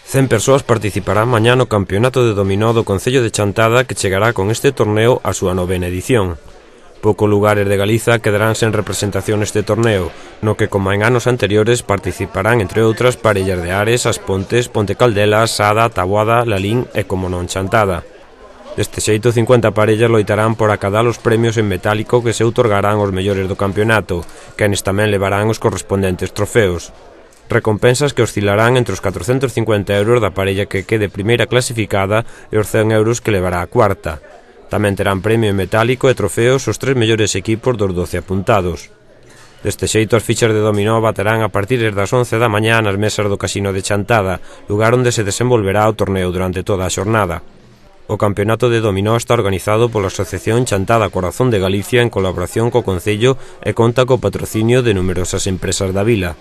100 persoas participarán mañá no Campeonato de Dominó do Concello de Chantada, que chegará con este torneo a súa 9ª edición. Poucos lugares de Galiza quedarán sen representación neste torneo, no que, como en anos anteriores, participarán, entre outras, parellas de Ares, As Pontes, Ponte Caldelas, Sada, Taboada, Lalín e, como non, Chantada. Deste xeito, 50 parellas loitarán por acadar os premios en metálico que se outorgarán aos mellores do campeonato, quenes tamén levarán os correspondentes trofeos. Recompensas que oscilarán entre os 450 euros da parella que quede primeira clasificada e os 100 euros que levará a cuarta. Tamén terán premio en metálico e trofeos os 3 mellores equipos dos 12 apuntados. Deste xeito, as fichas de dominó baterán a partir das 11 da mañá nas mesas do Casino de Chantada, lugar onde se desenvolverá o torneo durante toda a xornada. O campeonato de dominó está organizado pola Asociación Chantada Corazón de Galicia en colaboración co Concello e conta co patrocinio de numerosas empresas da vila.